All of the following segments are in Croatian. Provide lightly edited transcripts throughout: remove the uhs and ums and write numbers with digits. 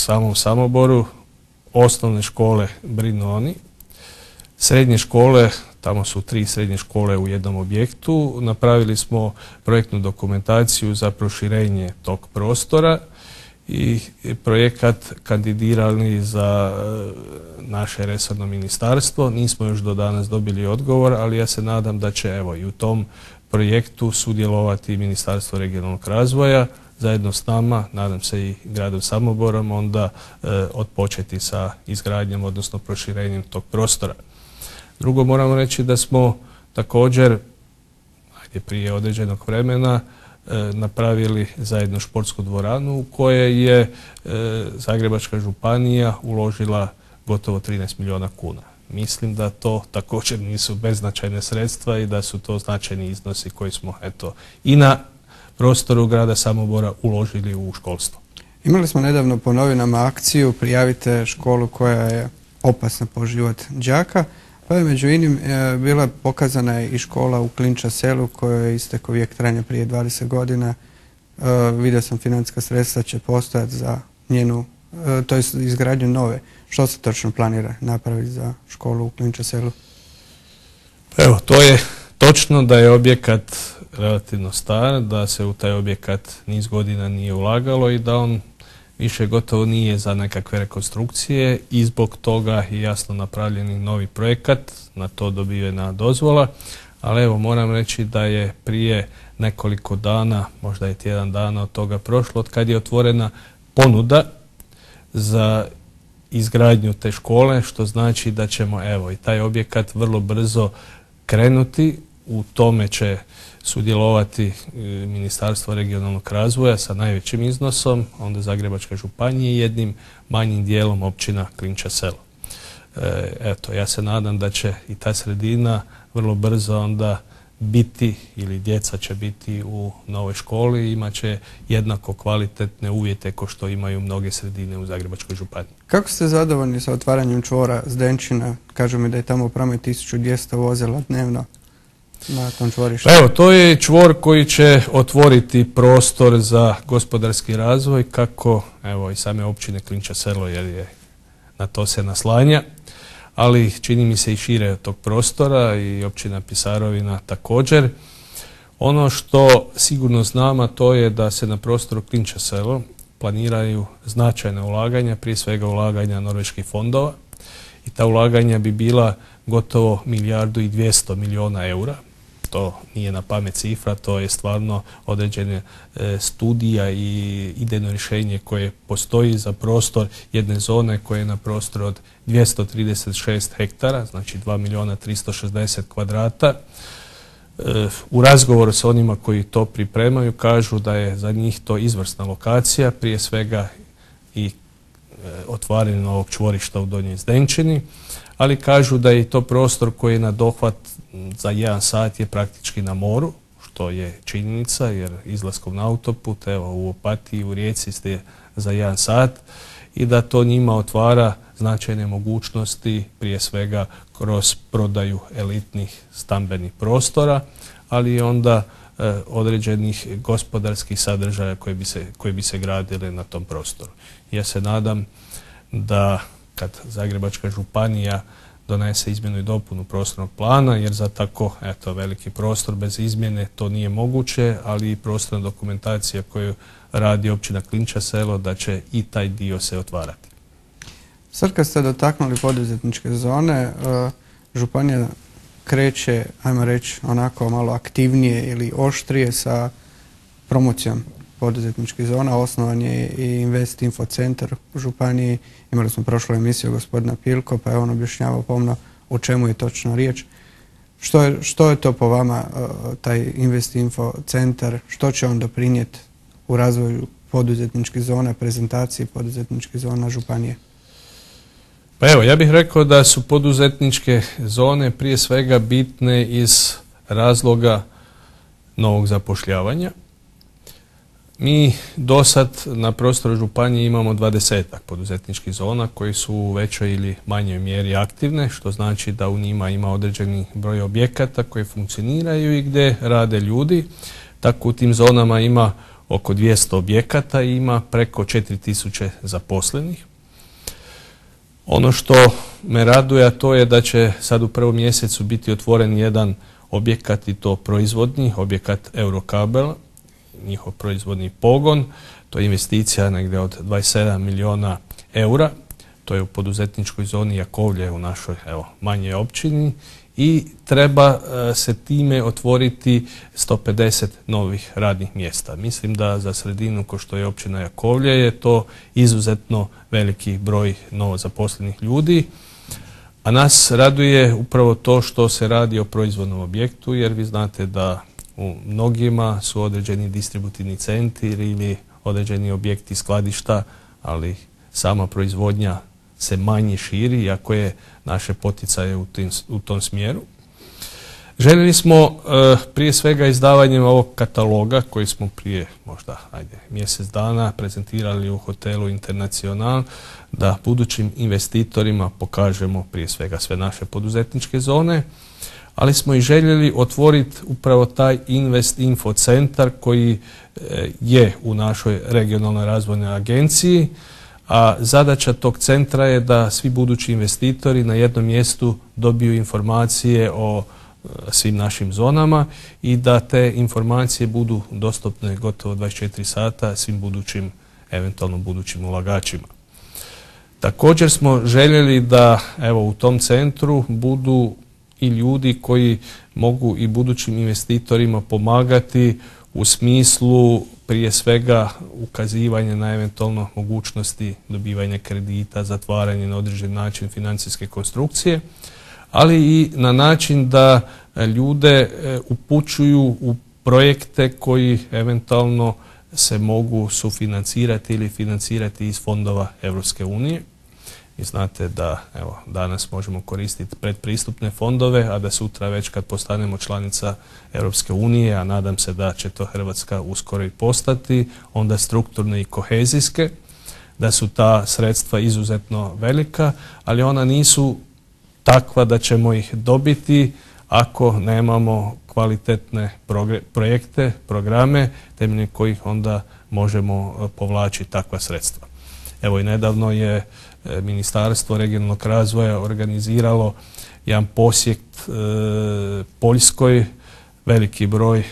samom Samoboru osnovne škole brinu oni. Srednje škole, tamo su 3 srednje škole u jednom objektu. Napravili smo projektnu dokumentaciju za proširenje tog prostora i projekat kandidirali za naše resorno ministarstvo. Nismo još do danas dobili odgovor, ali ja se nadam da će evo i u tom projektu sudjelovati Ministarstvo regionalnog razvoja zajedno s nama, nadam se i gradom Samoborom, onda otpočeti sa izgradnjom, odnosno proširenjem tog prostora. Drugo, moramo reći da smo također prije određenog vremena napravili zajedno športsku dvoranu u kojoj je Zagrebačka županija uložila gotovo 13 milijuna kuna. Mislim da to također nisu beznačajne sredstva i da su to značajni iznosi koji smo i na prostoru grada Samobora uložili u školstvo. Imali smo nedavno po novinama akciju Prijavite školu koja je opasna po život đaka, pa je među inim bila pokazana i škola u Klinča selu kojoj je istekao vijek trajanja prije 20 godina. Vidio sam financijska sredstva će postojati za njenu, to je izgradnju nove. Što se točno planira napraviti za školu u Klinča selu? Evo, to je točno da je objekat relativno star, da se u taj objekat niz godina nije ulagalo i da on više gotovo nije za nekakve rekonstrukcije i zbog toga je jasno napravljeni novi projekat, na to dobijena dozvola, ali evo moram reći da je prije nekoliko dana, možda je tjedan dana od toga prošlo, od kad je otvorena ponuda za izgradnju te škole, što znači da ćemo evo i taj objekat vrlo brzo krenuti. U tome će sudjelovati Ministarstvo regionalnog razvoja sa najvećim iznosom, onda Zagrebačka županija i jednim manjim dijelom općina Klinča selo. Eto, ja se nadam da će i ta sredina vrlo brzo onda biti ili djeca će biti u novoj školi i imat će jednako kvalitetne uvjete kao što imaju mnoge sredine u Zagrebačkoj županiji. Kako ste zadovoljni sa otvaranjem čvora Zdenčina? Kažu mi da je tamo u promet 1200 vozila dnevno na tom čvorištu. Evo, to je čvor koji će otvoriti prostor za gospodarski razvoj kako evo i same općine Klinča selo jer je na to se naslanja, ali čini mi se i šire od tog prostora i općina Pisarovina također. Ono što sigurno znam, a to je da se na prostoru Klinča selo planiraju značajna ulaganja, prije svega ulaganja norveških fondova i ta ulaganja bi bila gotovo 1,2 milijarde eura. To nije na pamet cifra, to je stvarno određene studija i idejno rješenje koje postoji za prostor jedne zone koja je na prostoru od 236 hektara, znači 2.360.000 kvadrata. U razgovoru sa onima koji to pripremaju kažu da je za njih to izvrsna lokacija, prije svega i otvaranje novog čvorišta u Donjoj Zdenčini, ali kažu da je i to prostor koji je na dohvat za 1 sat je praktički na moru, što je činjenica jer izlaskom na autoput, evo u Opatiji, u Rijeci ste za 1 sat i da to njima otvara značajne mogućnosti prije svega kroz prodaju elitnih stambenih prostora, ali i onda određenih gospodarskih sadržaja koji bi se gradili na tom prostoru. Ja se nadam da kad Zagrebačka županija donese izmjenu i dopunu prostornog plana, jer za tako veliki prostor bez izmjene to nije moguće, ali i prostorna dokumentacija koju radi općina Klinča selo da će i taj dio se otvarati. Sad kad ste dotaknuli poduzetničke zone, županija kreće, ajmo reći, onako malo aktivnije ili oštrije sa promocijom poduzetničkih zona. Osnovan je i Invest Info centar u županiji. Imali smo prošlu emisiju gospodina Pilko, pa je on objašnjavao pomno o čemu je točno riječ. Što je to po vama taj Invest Info centar? Što će on doprinijeti u razvoju poduzetničkih zona, prezentaciji poduzetničkih zona županije? Pa evo, ja bih rekao da su poduzetničke zone prije svega bitne iz razloga novog zapošljavanja. Mi do sad na prostoru županije imamo 20-ak poduzetničkih zona koji su u većoj ili manjoj mjeri aktivne, što znači da u njima ima određeni broj objekata koji funkcioniraju i gdje rade ljudi. Tako u tim zonama ima oko 200 objekata i ima preko 4000 zaposlenih. Ono što me raduje, a to je da će sad u prvom mjesecu biti otvoren jedan objekat, i to proizvodni, objekat Eurokabela, njihov proizvodni pogon. To je investicija negdje od 27 milijuna eura. To je u poduzetničkoj zoni Jakovlje u našoj manjoj općini i treba se time otvoriti 150 novih radnih mjesta. Mislim da za sredinu ko što je općina Jakovlje je to izuzetno veliki broj novozaposlenih ljudi. A nas raduje upravo to što se radi o proizvodnom objektu, jer vi znate da u mnogima su određeni distributivni centri ili određeni objekti skladišta, ali sama proizvodnja se manje širi, iako je naše poticaje u tom smjeru. Željeli smo prije svega izdavanjem ovog kataloga koji smo prije možda mjesec dana prezentirali u hotelu Internacional, da budućim investitorima pokažemo prije svega sve naše poduzetničke zone, ali smo i željeli otvoriti upravo taj Invest Info centar koji je u našoj regionalnoj razvojnoj agenciji, a zadaća tog centra je da svi budući investitori na jednom mjestu dobiju informacije o svim našim zonama i da te informacije budu dostupne gotovo 24 sata svim budućim, eventualno budućim ulagačima. Također smo željeli da u tom centru budu i ljudi koji mogu i budućim investitorima pomagati u smislu prije svega ukazivanja na eventualno mogućnosti dobivanja kredita, zatvaranje na određen način financijske konstrukcije, ali i na način da ljude upućuju u projekte koji eventualno se mogu sufinancirati ili financirati iz fondova Europske unije. I znate da danas možemo koristiti predpristupne fondove, a da sutra već kad postanemo članica Europske unije, a nadam se da će to Hrvatska uskoro i postati, onda strukturne i kohezijske, da su ta sredstva izuzetno velika, ali ona nisu takva da ćemo ih dobiti ako nemamo kvalitetne projekte, programe temeljem kojih onda možemo povlačiti takva sredstva. Evo i nedavno je Ministarstvo regionalnog razvoja organiziralo jedan posjet Poljskoj, veliki broj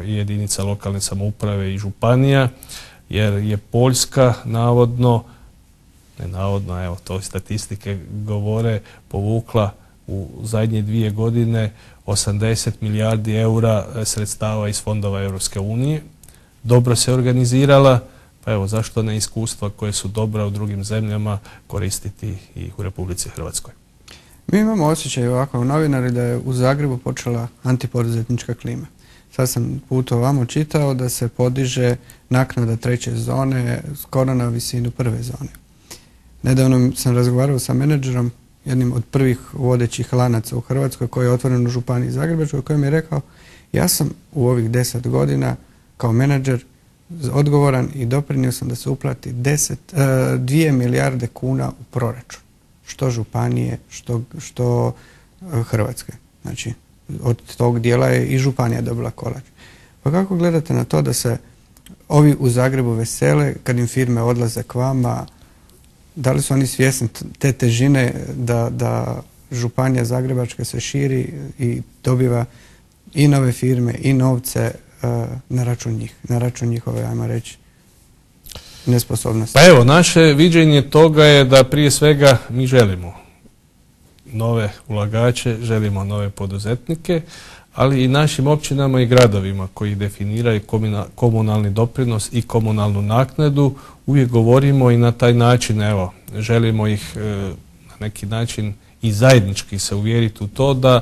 i jedinica lokalne samouprave i županija, jer je Poljska to statistike govore, povukla u zadnje 2 godine 80 milijardi eura sredstava iz fondova Europske unije. Dobro se organizirala, pa zašto ne iskustva koje su dobra u drugim zemljama koristiti i u Republici Hrvatskoj. Mi imamo osjećaj ovako novinari da je u Zagrebu počela antipoduzetnička klima. Sad sam put ovamo čitao da se podiže naknada 3. zone skoro na visinu 1. zone. Nedavno sam razgovarao sa menadžerom, jednim od prvih vodećih lanaca u Hrvatskoj koji je otvoren u županiji Zagrebačkoj, koji mi je rekao ja sam u ovih 10 godina kao menadžer odgovoran i doprinio sam da se uplati 2 milijarde kuna u proračun. Što županije, što Hrvatske. Znači, od tog dijela je i županija dobila kolač. Pa kako gledate na to da se ovi u Zagrebu vesele kad im firme odlaze k vama? Da li su oni svjesni te težine da županija Zagrebačka se širi i dobiva i nove firme i novce na račun njih, na račun njihove, ajmo reći, nesposobnosti? Pa naše viđenje toga je da prije svega mi želimo nove ulagače, želimo nove poduzetnike, ali i našim općinama i gradovima koji definiraju komunalni doprinos i komunalnu naknadu, uvijek govorimo i na taj način, želimo ih na neki način i zajednički se uvjeriti u to da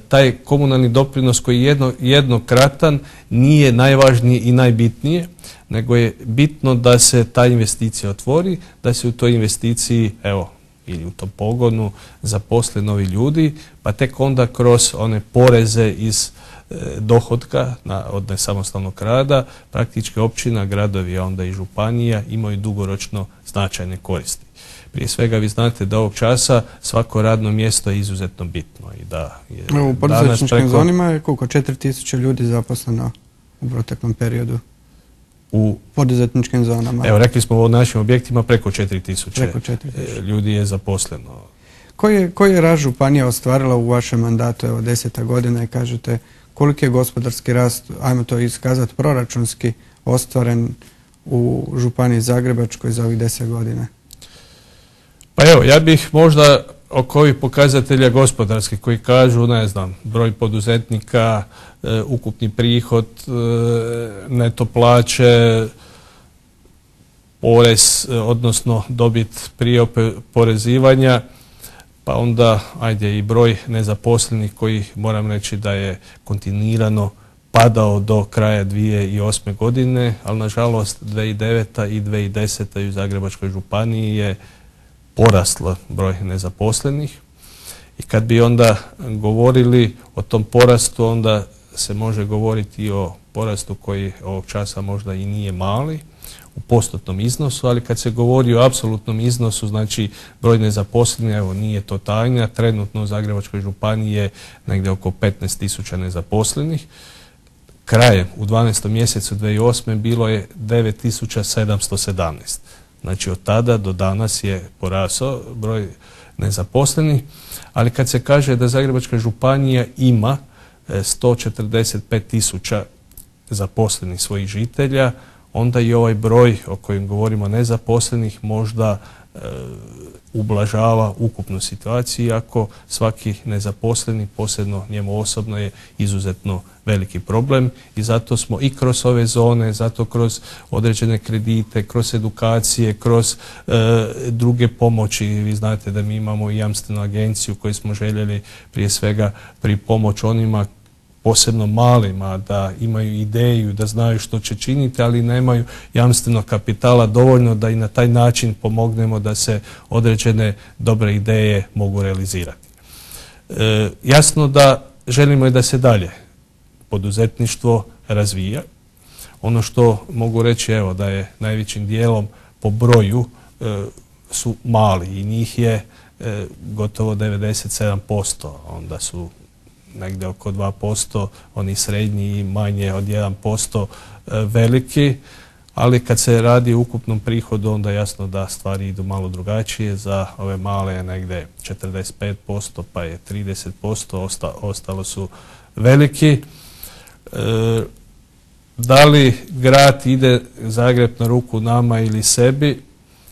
taj komunalni doprinos koji je jednokratan nije najvažniji i najbitnije, nego je bitno da se ta investicija otvori, da se u toj investiciji, ili u tom pogonu zaposle novi ljudi, pa tek onda kroz one poreze iz dohotka od nesamostalnog rada praktički općina, gradovi, a onda i županija imaju dugoročno značajne koristi. Prije svega vi znate da ovog časa svako radno mjesto je izuzetno bitno. I da je u poduzetničkim zonima je koliko? 4000 ljudi zaposleno u proteklom periodu? u poduzetničkim zonama. Evo, rekli smo u našim objektima preko 4000 Preko 4000 ljudi je zaposleno. Koji je rast županija ostvarila u vašem mandatu, evo 10. godina, i kažete koliki je gospodarski rast, ajmo to iskazati proračunski, ostvaren u županiji Zagrebačkoj za ovih 10 godina? Pa evo, ja bih možda oko ovih pokazatelja gospodarskih koji kažu, ne znam, broj poduzetnika, ukupni prihod, neto plaće, porez, odnosno dobit prije oporezivanja, pa onda ajde i broj nezaposlenih koji moram reći da je kontinuirano padao do kraja 2008. godine, ali nažalost 2009. i 2010. u Zagrebačkoj županiji je poraslo broj nezaposlenih. I kad bi onda govorili o tom porastu, onda se može govoriti i o porastu koji ovog časa možda i nije mali u postotnom iznosu, ali kad se govori o apsolutnom iznosu, znači broj nezaposlenih, evo nije to tajna, trenutno u Zagrebačkoj županiji je negdje oko 15.000 nezaposlenih. Krajem u 12. mjesecu 2008. bilo je 9.717. Znači od tada do danas je porasao broj nezaposlenih, ali kad se kaže da Zagrebačka županija ima 145.000 zaposlenih svojih žitelja, onda i ovaj broj o kojem govorimo nezaposlenih možda ublažava ukupnu situaciju, iako svaki nezaposleni, posebno njemu osobno, je izuzetno veliki problem i zato smo i kroz ove zone, zato kroz određene kredite, kroz edukacije, kroz druge pomoći. Vi znate da mi imamo i jamstvenu agenciju koju smo željeli prije svega pripomoć onima, posebno malima, da imaju ideju, da znaju što će činiti, ali nemaju jamstvenog kapitala dovoljno da i na taj način pomognemo da se određene dobre ideje mogu realizirati. Jasno da želimo i da se dalje poduzetništvo razvija. Ono što mogu reći, evo, da je najvećim dijelom po broju su mali i njih je gotovo 97%, onda su negdje oko 2% oni srednji i manje od 1% veliki, ali kad se radi o ukupnom prihodu, onda jasno da stvari idu malo drugačije. Za ove male je negdje 45%, pa je 30%, ostalo su veliki. Da li grad ide Zagreb na ruku nama ili sebi?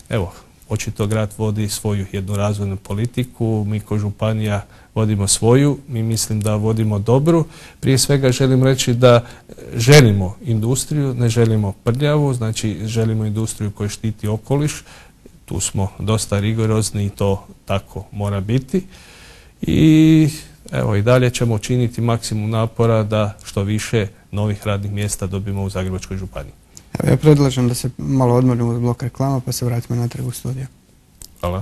Evo, očito grad vodi svoju jednu razvojnu politiku, mi kao županija vodimo svoju, mi mislim da vodimo dobru. Prije svega želim reći da želimo industriju, ne želimo prljavu, znači želimo industriju koja štiti okoliš, tu smo dosta rigorozni i to tako mora biti. I evo, i dalje ćemo činiti maksimum napora da što više novih radnih mjesta dobimo u Zagrebačkoj županiji. Evo, ja predlažem da se malo odmorimo uz blok reklama pa se vratimo natrag u studiju. Hvala.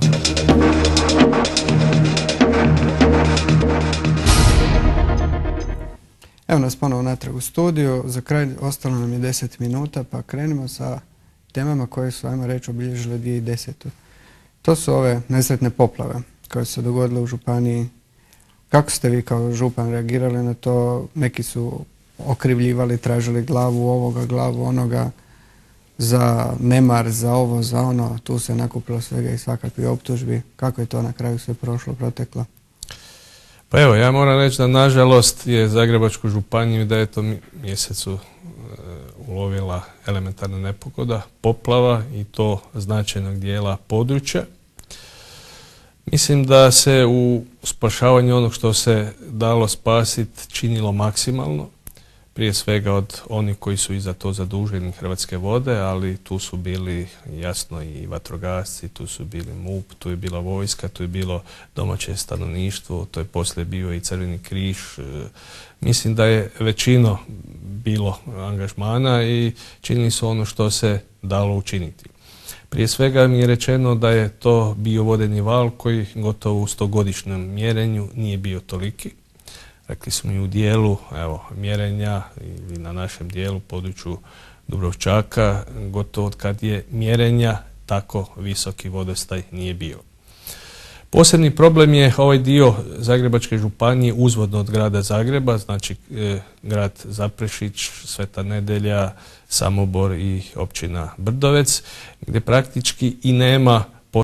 Evo nas ponovo natrag u studiju. Za kraj ostalo nam je 10 minuta, pa krenimo sa temama koje su, ajmo reći, obilježile 2010. To su ove nesretne poplave koje su se dogodile u županiji. Kako ste vi kao župan reagirali na to? Neki su okrivljivali, tražili glavu ovoga, glavu onoga, za nemar, za ovo, za ono. Tu se nakupilo svega i svakakvih optužbi. Kako je to na kraju sve prošlo, proteklo? Pa evo, ja moram reći da nažalost je Zagrebačku županiju u 9. mjesecu ulovila elementarna nepogoda, poplava, i to značajnog dijela područja. Mislim da se u spašavanju onog što se dalo spasiti činilo maksimalno, prije svega od onih koji su i za to zaduženi, Hrvatske vode, ali tu su bili jasno i vatrogasci, tu su bili MUP, tu je bila vojska, tu je bilo domaće stanovništvo, to je poslije bio i Crveni križ. Mislim da je većino bilo angažmana i činili su ono što se dalo učiniti. Prije svega mi je rečeno da je to bio vodeni val koji gotovo u 100-godišnjem mjerenju nije bio toliki. Rekli smo i u dijelu mjerenja i na našem dijelu, području Dubrovčaka, gotovo od kad je mjerenja tako visoki vodostaj nije bio. Posebni problem je ovaj dio Zagrebačke županije uzvodno od grada Zagreba, znači grad Zaprešić, Sveta Nedelja, Samobor i općina Brdovec, gdje praktički i nema